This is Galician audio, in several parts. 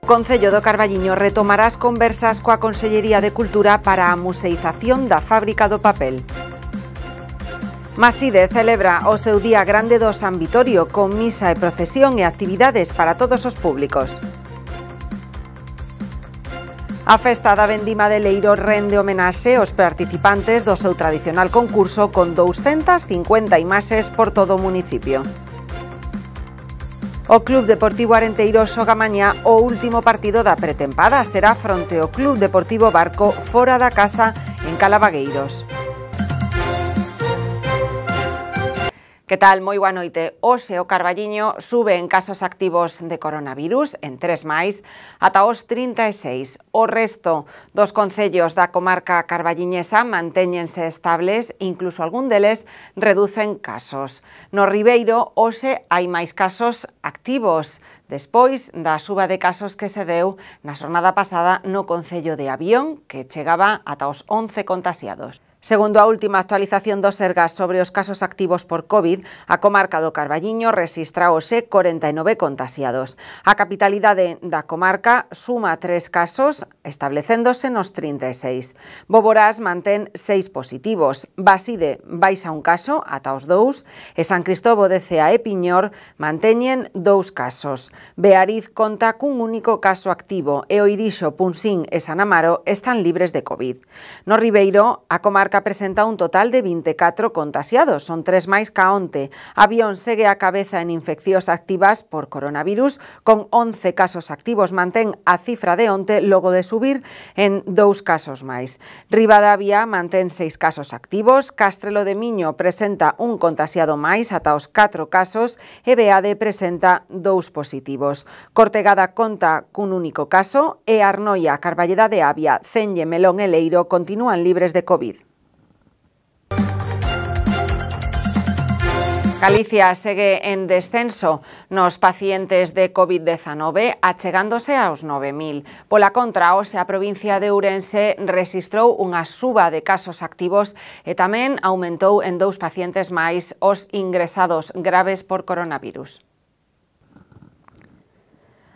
Concello do Carballiño retomará as conversas coa Consellería de Cultura para a museización da fábrica do papel. Maside celebra o seu Día Grande do San Vitorio con misa e procesión e actividades para todos os públicos. A festa da vendima de Leiro rende homenaxe aos participantes do seu tradicional concurso con 250 imaxes por todo o municipio. O Club Deportivo Arenteiro xoga mañá o último partido da pretempada. Será fronte ao Club Deportivo Barco fora da casa en Calabagueiros. Que tal? Moi boa noite. Hoxe o Carballiño sube en casos activos de coronavirus, en 3 máis, ata os 36. O resto dos concellos da comarca carballiñesa mantéñense estables, incluso algún deles reducen casos. No Ribeiro, hoxe hai máis casos activos, despois da suba de casos que se deu na xornada pasada no concello de Avión, que chegaba ata os 11 contagiados. Segundo a última actualización do Sergas sobre os casos activos por COVID, a comarca do Carballiño rexistra hoxe 49 contagiados. A capitalidade da comarca suma 3 casos, establecéndose nos 36. Boborás mantén 6 positivos, Baside baixa un caso ata os 2 e San Cristobo de Cea e Piñor manteñen 2 casos. Beariz conta cun único caso activo e Oirixo, Punsín e San Amaro están libres de COVID. No Ribeiro, a comarca presenta un total de 24 contagiados, son 3 máis ca onte. Avión segue a cabeza en infeccións activas por coronavirus, con 11 casos activos, mantén a cifra de onte logo de subir en 2 casos máis. Ribadavia mantén 6 casos activos, Castrelo de Miño presenta un contagiado máis ata os 4 casos e Beade presenta 2 positivos. Cortegada conta cun único caso e Arnoia, Carballeda de Avia, Celle, Melón e Leiro continúan libres de COVID. Galicia segue en descenso nos pacientes de COVID-19, achegándose aos 9.000. Pola contra, hoxe a provincia de Ourense rexistrou unha suba de casos activos e tamén aumentou en 2 pacientes máis os ingresados graves por coronavirus.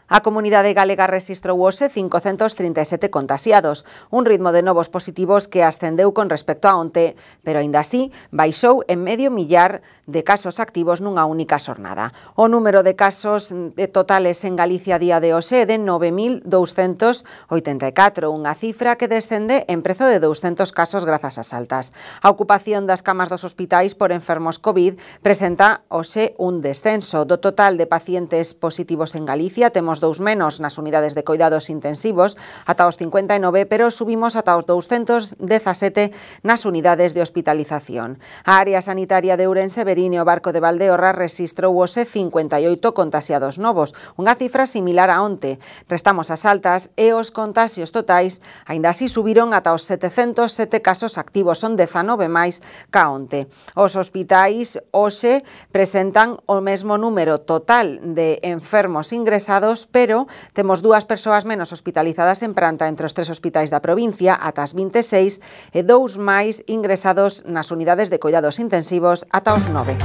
A comunidade galega rexistrou hoxe 537 contagiados, un ritmo de novos positivos que ascendeu con respecto a onte, pero aínda así baixou en medio millar de casos activos nunha única xornada. O número de casos totales en Galicia a día de hoxe é de 9.284, unha cifra que descende en prezo de 200 casos grazas ás altas. A ocupación das camas dos hospitais por enfermos COVID presenta hoxe un descenso. Do total de pacientes positivos en Galicia, temos 2 menos nas unidades de coidados intensivos, ata os 59, pero subimos ata os 217 nas unidades de hospitalización. A área sanitaria de Ourense, Verín e o Barco de Valdeorras rexistrou hoxe 58 contagiados novos, unha cifra similar a onte. Restamos as altas e os contaxios totais aínda así subiron ata os 707 casos activos, son 19 máis ca onte. Os hospitais hoxe presentan o mesmo número total de enfermos ingresados, pero temos 2 persoas menos hospitalizadas en planta entre os 3 hospitais da provincia, ata as 26, e 2 máis ingresados nas unidades de coidados intensivos ata os 9.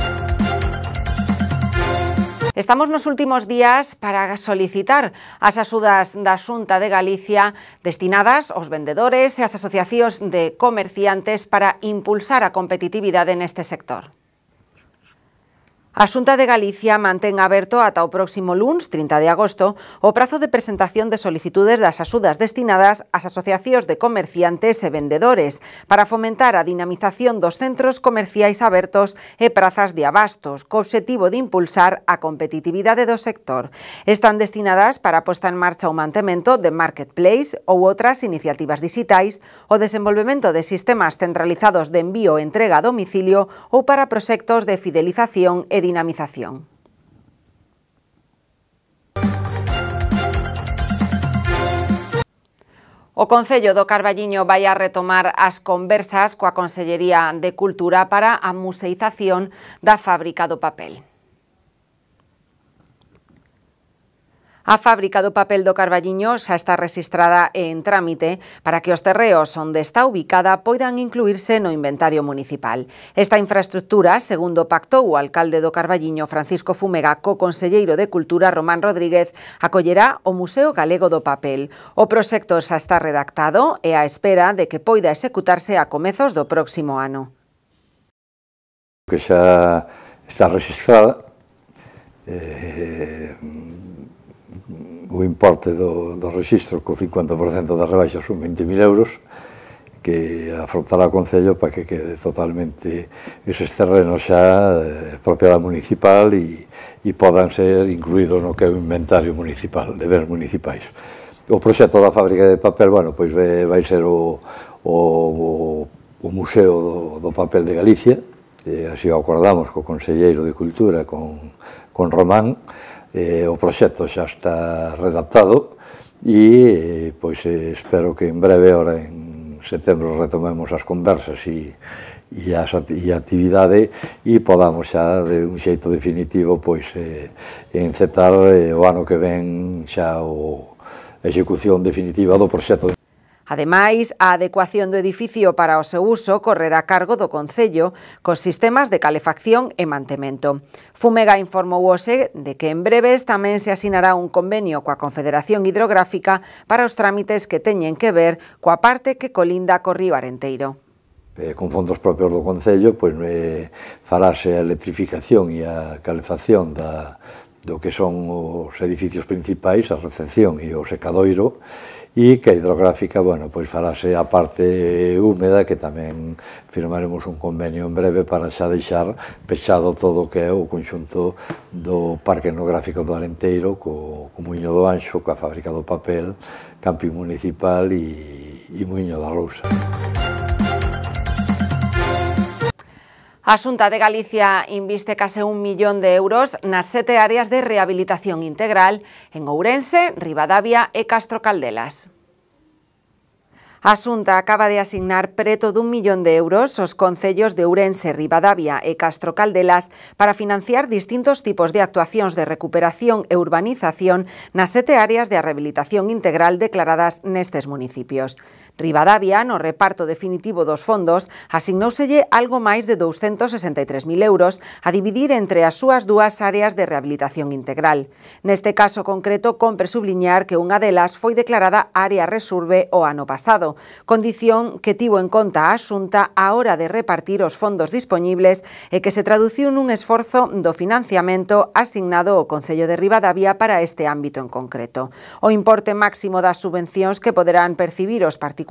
Estamos nos últimos días para solicitar as axudas da Xunta de Galicia destinadas aos vendedores e ás asociacións de comerciantes para impulsar a competitividade neste sector. A Xunta de Galicia mantén aberto ata o próximo luns, 30 de agosto, o prazo de presentación de solicitudes das axudas destinadas ás asociacións de comerciantes e vendedores para fomentar a dinamización dos centros comerciais abertos e prazas de abastos, co obxectivo de impulsar a competitividade do sector. Están destinadas para a posta en marcha ou mantemento de marketplace ou outras iniciativas digitais, o desenvolvemento de sistemas centralizados de envío e entrega a domicilio ou para proxectos de fidelización e dinamización. O Concello do Carballiño vai a retomar as conversas coa Consellería de Cultura para a museización da fábrica do papel. A fábrica do papel do Carballiño xa está rexistrada e en trámite para que os terreos onde está ubicada poidan incluírse no inventario municipal. Esta infraestructura, segundo pactou o alcalde do Carballiño, Francisco Fumega, co conselleiro de Cultura, Román Rodríguez, acollerá o Museo Galego do Papel. O proxecto xa está redactado e á espera de que poida executarse a comezos do próximo ano. Que xa está registrada, o importe do rexistro co 50% da rebaixa son 20.000 euros, que afrontará o Concello para que quede totalmente eses terrenos xa propiedade municipal e podan ser incluídos no que é o inventario municipal, de bens municipais. O proxecto da fábrica de papel, bueno, pois vai ser o Museo do Papel de Galicia, así o acordamos co conselleiro de Cultura, con Román. O proxecto xa está redactado e pois espero que en breve, ahora en setembro, retomemos as conversas e a actividade e podamos xa de un xeito definitivo pois encetar o ano que ven xa a execución definitiva do proxecto. Ademais, a adecuación do edificio para o seu uso correrá a cargo do Concello cos sistemas de calefacción e mantemento. Fumega informou hoxe de que en breves tamén se asinará un convenio coa Confederación Hidrográfica para os trámites que teñen que ver coa parte que colinda co río Arenteiro. Con fondos propios do Concello, pois farase a electrificación e a calefacción do que son os edificios principais, a recepción e o secadoiro, e que a hidrográfica, bueno, pois farase a parte húmeda, que tamén firmaremos un convenio en breve para xa deixar pechado todo o que é o conxunto do Parque Etnográfico do Arenteiro, co Muiño do Anxo, coa fábrica do papel, camping municipal e Muiño da Lousa. A Xunta de Galicia inviste case 1 millón de euros nas 7 áreas de rehabilitación integral en Ourense, Ribadavia e Castro Caldelas. A Xunta acaba de asignar preto d'1 millón de euros aos concellos de Ourense, Ribadavia e Castro Caldelas para financiar distintos tipos de actuacións de recuperación e urbanización nas 7 áreas de rehabilitación integral declaradas nestes municipios. Ribadavia, no reparto definitivo dos fondos, asignóuselle algo máis de 263.000 euros a dividir entre as súas dúas áreas de rehabilitación integral. Neste caso concreto, compre subliñar que unha delas foi declarada área resurbe o ano pasado, condición que tivo en conta a Xunta á hora de repartir os fondos dispoñibles e que se traduciu nun esforzo do financiamento asignado ao Concello de Ribadavia para este ámbito en concreto. O importe máximo das subvencións que poderán percibir os particulares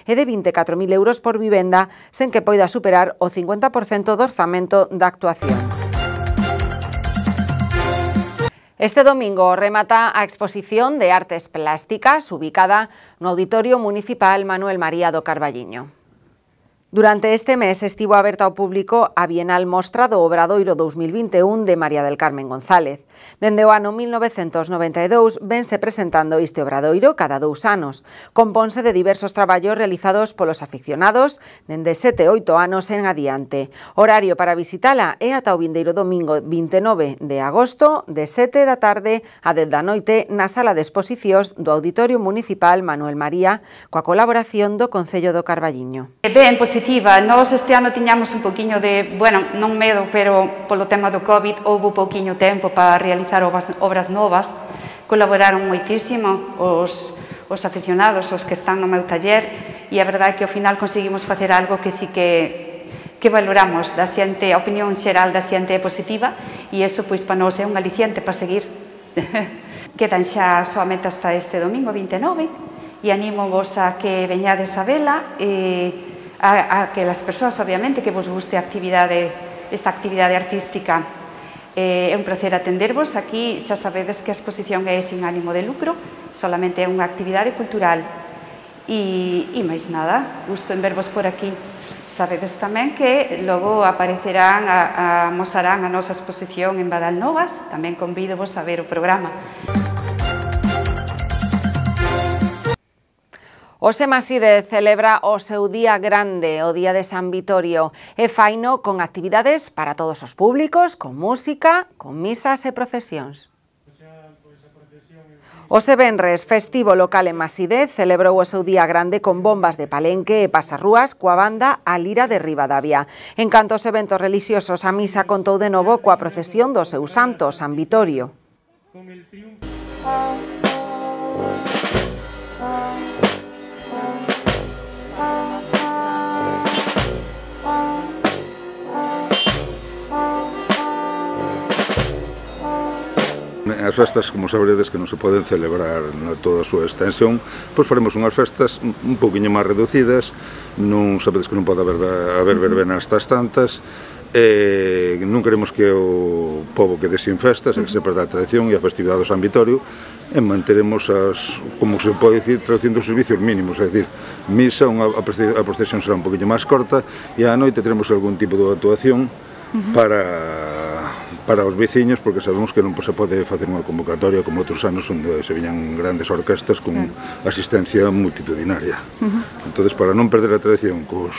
é de 24.000 euros por vivenda, sen que poida superar o 50% do orzamento da actuación. Este domingo remata a exposición de artes plásticas ubicada no Auditorio Municipal Manuel María do Carballiño. Durante este mes estivo aberta ao público a Bienal Mostra do Obradoiro 2021 de María del Carmen González. Dende o ano 1992 vense presentando este obradoiro cada 2 anos. Componse de diversos traballos realizados polos aficionados dende 7 e 8 anos en adiante. Horario para visitala é ata o vindeiro domingo 29 de agosto de 7 da tarde a 10 da noite na sala de exposicións do Auditorio Municipal Manuel María coa colaboración do Concello do Carballiño. Ben, positiva. Nós este ano tiñamos un poquinho de, bueno, non medo, pero polo tema do COVID houve pouquiño tempo para realizar obras novas. Colaboraron moitísimo os aficionados, os que están no meu taller, e a verdade é que ao final conseguimos facer algo que sí que valoramos da xente, a opinión xeral da xente é positiva, e iso pois para nós é un aliciente para seguir. Quedan xa soamente hasta este domingo 29 e animo vos a que veñades a vela e a que as persoas, obviamente, que vos guste esta actividade artística. É un placer atendervos. Aquí xa sabedes que a exposición é sin ánimo de lucro, solamente é unha actividade cultural. E máis nada, gusto en vervos por aquí. Sabedes tamén que logo aparecerán, amosarán a nosa exposición en Badalnovas. Tamén convídovos a ver o programa. O Semaside celebra o seu día grande, o Día de San Vitorio, e faino con actividades para todos os públicos, con música, con misas e procesións. A procesión Ose venres, festivo local en Maside, celebrou o seu día grande con bombas de palenque e pasarrúas coa banda A Lira de Ribadavia. En canto aos eventos religiosos, a misa contou de novo coa procesión do seu santo, San Vitorio. As festas, como saberedes, que non se poden celebrar na toda a súa extensión, pois faremos unhas festas un poquinho máis reducidas, non sabedes que non pode haber verbena estas tantas, non queremos que o pobo quede sin festas, que se perda a tradición e a festividade do San Vitorio, e manteremos as, como se pode dicir, traducindo os servicios mínimos, é dicir, misa, a procesión será un poquinho máis corta, e á noite teremos algún tipo de actuación para os veciños, porque sabemos que non se pode facer unha convocatoria como outros anos onde se viñan grandes orquestas con asistencia multitudinaria. Entonces, para non perder a tradición cos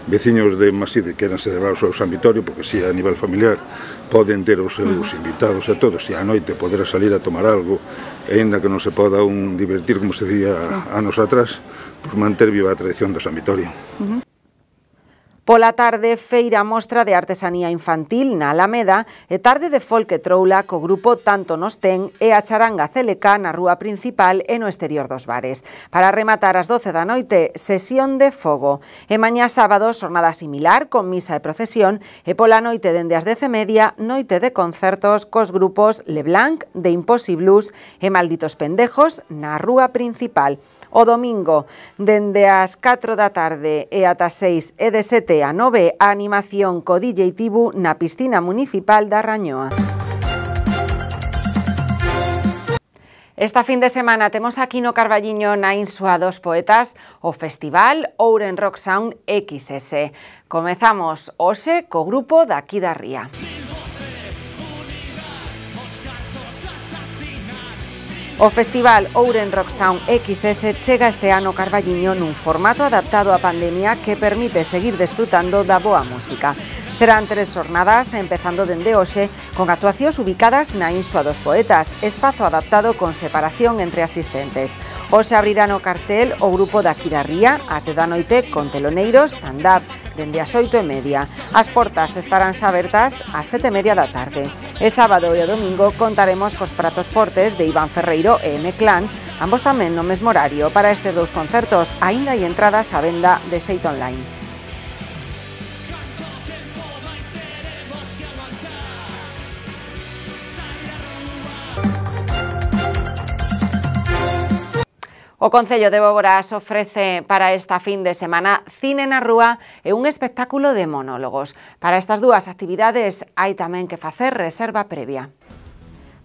veciños de Maside que queran celebrar o seu San Vitorio, porque si a nivel familiar poden ter os seus invitados a todos e á noite poder salir a tomar algo, e ainda que non se poda un divertir como se día anos atrás, pues manter viva a tradición do San Vitorio. Pola tarde, feira mostra de artesanía infantil na Alameda e tarde de folk e troula co grupo Tanto Nos Ten e a charanga CLK na rúa principal e no exterior dos bares. Para rematar ás 12 da noite, sesión de fogo. E mañá sábado, xornada similar con misa e procesión e pola noite dende as 10:30, noite de concertos cos grupos Leblanc, de Impossibles e Malditos Pendejos na rúa principal. O domingo, dende as 4 da tarde e ata 6 e de 7 a 9, a animación co DJ Tibu na piscina municipal da Rañoa. Esta fin de semana temos aquí no Carballiño, na Insua dos Poetas, o festival Ouren Rock Sound XS. Comezamos hoxe co grupo daqui da Ría. O festival Ouren Rock Sound XS chega este ano Carballiño nun formato adaptado á pandemia que permite seguir desfrutando da boa música. Serán 3 xornadas, empezando dende hoxe, con actuacións ubicadas na Insua dos Poetas, espazo adaptado con separación entre asistentes. Hoxe abrirán o cartel o grupo daqui da Ría, ás 10 da noite, con teloneiros, stand-up, dende as 8:30. As portas estarán abertas ás 7:30 da tarde. E sábado e o domingo contaremos cos pratos fortes de Iván Ferreiro e M-Clan, ambos tamén no mesmo horario. Para estes dous concertos, aínda hai entradas á venda de xeito online. O Concello de Boborás ofrece para esta fin de semana Cine na Rúa e un espectáculo de monólogos. Para estas dúas actividades hai tamén que facer reserva previa.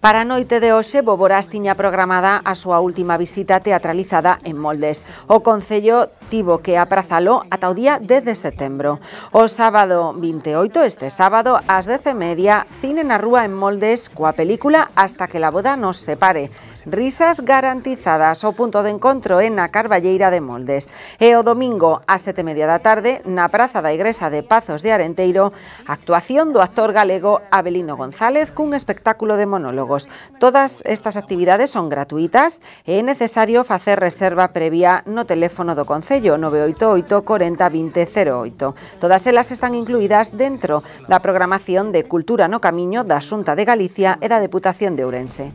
Para a noite de hoxe, Boborás tiña programada a súa última visita teatralizada en Moldes. O Concello tivo que aprazalo ata o día 10 de setembro. O sábado 28, este sábado, ás 10:30, Cine na Rúa en Moldes coa película Hasta que la boda nos separe. Risas garantizadas. O punto de encontro é na Carballeira de Moldes. E o domingo, ás 7:30 da tarde, na Praza da Igrexa de Pazos de Arenteiro, actuación do actor galego Abelino González cun espectáculo de monólogos. Todas estas actividades son gratuitas e é necesario facer reserva previa no teléfono do Concello 988 40 20 08. Todas elas están incluídas dentro da programación de Cultura no Camiño da Xunta de Galicia e da Deputación de Ourense.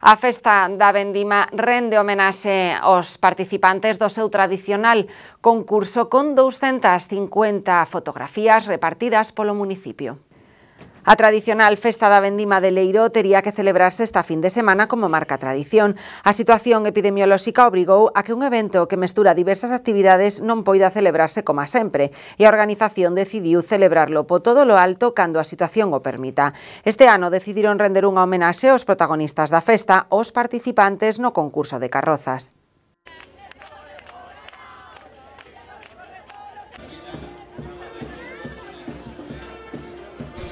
A festa da vendima rende homenaxe aos participantes do seu tradicional concurso con 250 fotografías repartidas polo municipio. A tradicional festa da vendima de Leiro tería que celebrarse esta fin de semana como marca tradición. A situación epidemiolóxica obrigou a que un evento que mestura diversas actividades non poida celebrarse como sempre, e a organización decidiu celebrarlo po todo lo alto cando a situación o permita. Este ano decidiron render unha homenaxe aos protagonistas da festa, aos participantes no concurso de carrozas.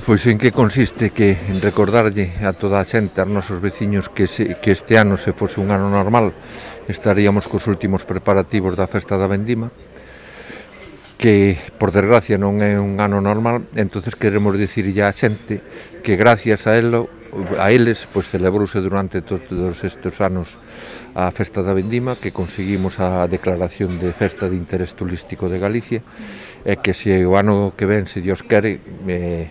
Pois en que consiste que en recordarlle a toda a xente, aos nosos veciños, que este ano, se fose un ano normal, estaríamos cos últimos preparativos da festa da vendima. que por desgracia non é un ano normal, entonces queremos dicirlle á xente que gracias a eles pois celebrouse durante todos estes anos a Festa da Vendima, que conseguimos a declaración de Festa de Interés Turístico de Galicia, e que se o ano que ven, se Dios quere,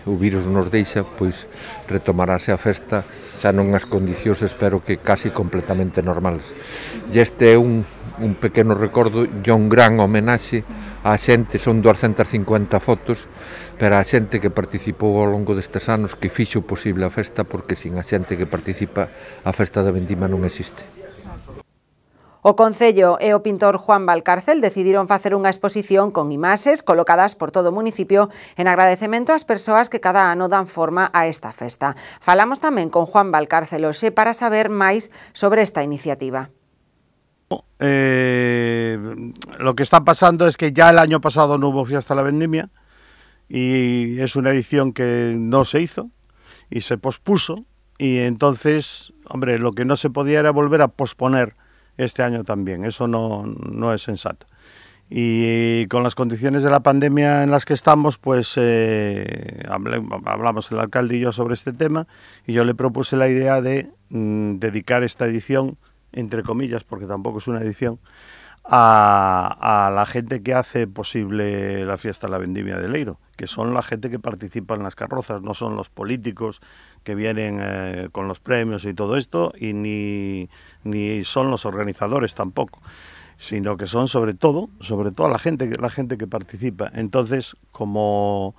o virus nos deixa, pois retomarase a festa xa nunhas condicións, espero que casi completamente normales. E este é un pequeno recordo e un gran homenaxe á xente, son 250 fotos, pero a xente que participou ao longo destes anos, que fixo posible a festa, porque sin a xente que participa a Festa da Vendima non existe. O Concello e o pintor Juan Valcárcel decidiron facer unha exposición con imaxes colocadas por todo o municipio en agradecemento ás persoas que cada ano dan forma a esta festa. Falamos tamén con Juan Valcárcel hoxe para saber máis sobre esta iniciativa. Lo que está pasando es que ya el año pasado no hubo Fiesta de la Vendimia y es una edición que no se hizo y se pospuso, y entonces, hombre, lo que no se podía era volver a posponer este año también, eso no es sensato. Y con las condiciones de la pandemia en las que estamos, pues hablamos el alcalde y yo sobre este tema, y yo le propuse la idea de dedicar esta edición, entre comillas, porque tampoco es una edición, a la gente que hace posible la Fiesta de la Vendimia de Leiro, que son la gente que participa en las carrozas, no son los políticos que vienen con los premios y todo esto, y ni son los organizadores tampoco, sino que son sobre todo la gente que participa. Entonces, como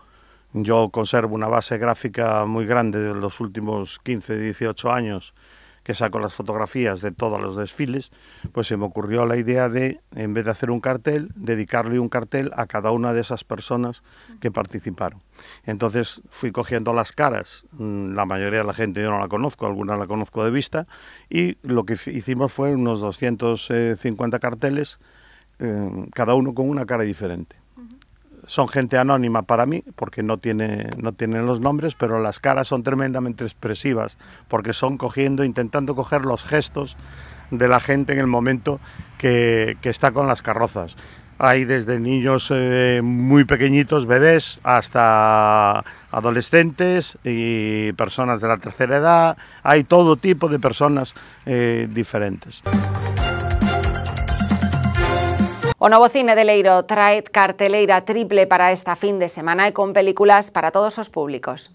yo conservo una base gráfica muy grande de los últimos 15, 18 años, que saco las fotografías de todos los desfiles, pues se me ocurrió la idea de, en vez de hacer un cartel, dedicarle un cartel a cada una de esas personas que participaron. Entonces fui cogiendo las caras, la mayoría de la gente yo no la conozco, alguna la conozco de vista, y lo que hicimos fue unos 250 carteles, cada uno con una cara diferente. Son gente anónima para mí, porque no tienen los nombres, pero las caras son tremendamente expresivas, porque son intentando coger los gestos de la gente en el momento que está con las carrozas. Hay desde niños muy pequeñitos, bebés, hasta adolescentes y personas de la tercera edad. Hay todo tipo de personas diferentes. O Novo Cine de Leiro trae carteleira triple para esta fin de semana e con películas para todos os públicos.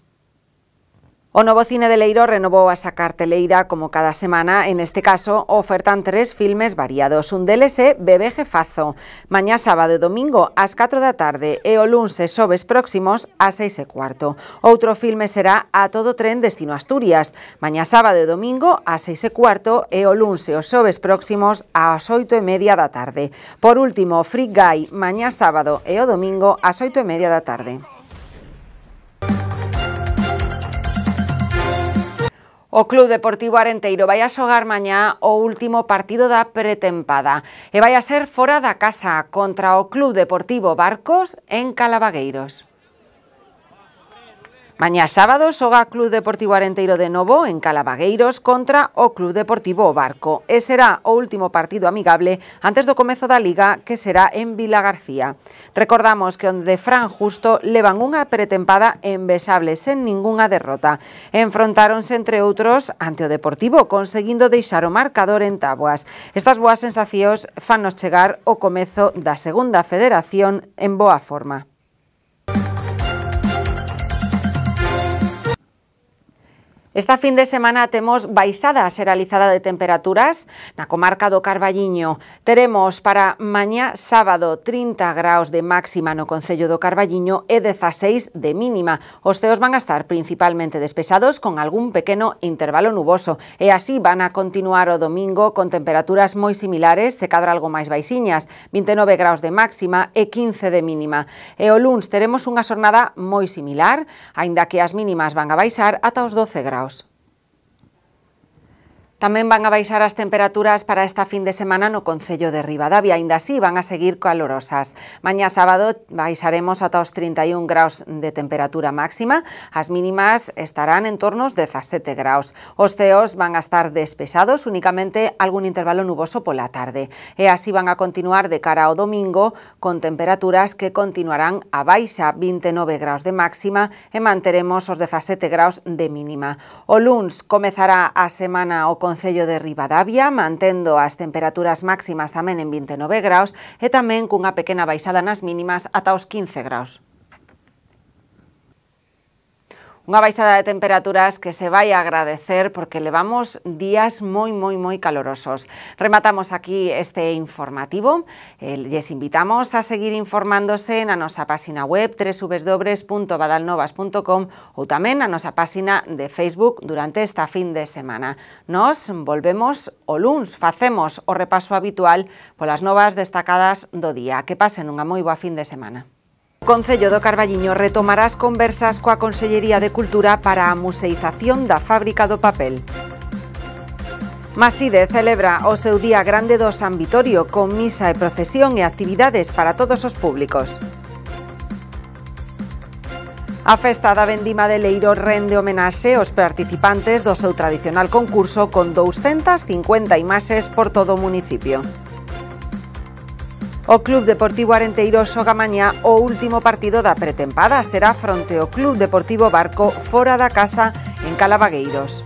O Novo Cine de Leiro renovou a esa carteleira como cada semana. En este caso, ofertan 3 filmes variados. Un deles é Bebé Jefazo, mañá sábado e domingo ás 4 da tarde e o luns e xoves próximos ás 6:15. Outro filme será A todo tren destino Asturias, mañá sábado e domingo ás 6:15 e o luns e os xoves próximos ás 8:30 da tarde. Por último, Free Guy, mañá sábado e o domingo ás 8:30 da tarde. O Club Deportivo Arenteiro vai a xogar mañá o último partido da pretempada e vai a ser fora da casa contra o Club Deportivo Barcos en Calabagueiros. Mañá sábado xoga Club Deportivo Arenteiro de novo en Calabagueiros contra o Club Deportivo Barco e será o último partido amigable antes do comezo da Liga, que será en Vilagarcía. Recordamos que onde Fran Justo levan unha pretempada envexable sen ningunha derrota. Enfrontáronse entre outros ante o Deportivo, conseguindo deixar o marcador en táboas. Estas boas sensacións fannos chegar o comezo da segunda federación en boa forma. Esta fin de semana temos baixada xeralizada de temperaturas na comarca do Carballiño. Teremos para mañá sábado 30 graus de máxima no concello do Carballiño e 16 de mínima. Os ceos van a estar principalmente despejados con algún pequeno intervalo nuboso e así van a continuar o domingo con temperaturas moi similares, se cadra algo máis baixiñas, 29 graus de máxima e 15 de mínima. E o luns teremos unha xornada moi similar, aínda que as mínimas van a baixar ata os 12 graus. Tamén van a baixar as temperaturas para esta fin de semana no concello de Ribadavia, aínda así van a seguir calorosas. Mañá sábado baixaremos ata os 31 graus de temperatura máxima, as mínimas estarán en torno aos 17 graus. Os ceos van a estar despexados, únicamente algún intervalo nuboso pola tarde. E así van a continuar de cara ao domingo, con temperaturas que continuarán a baixa, 29 graus de máxima e manteremos os 17 graus de mínima. O luns comezará a semana o concello de Ribadavia, mantendo as temperaturas máximas tamén en 29 graus e tamén cunha pequena baixada nas mínimas ata os 15 graus. Unha baixada de temperaturas que se vai a agradecer porque levamos días moi calorosos. Rematamos aquí este informativo. Les invitamos a seguir informándose na nosa página web www.badalnovas.com ou tamén na nosa página de Facebook durante esta fin de semana. Nos volvemos o luns, facemos o repaso habitual polas novas destacadas do día. Que pasen unha moi boa fin de semana. O Concello do Carballiño retomará as conversas coa Consellería de Cultura para a museización da fábrica do papel. Maside celebra o seu Día Grande do San Vitorio con misa e procesión e actividades para todos os públicos. A festa da vendima de Leiro rende homenaxe aos participantes do seu tradicional concurso con 250 imaxes por todo o municipio. O Club Deportivo Arenteiro xoga mañá o último partido da pretempada. Será fronte ao Club Deportivo Barco fora da casa en Calavagueiros.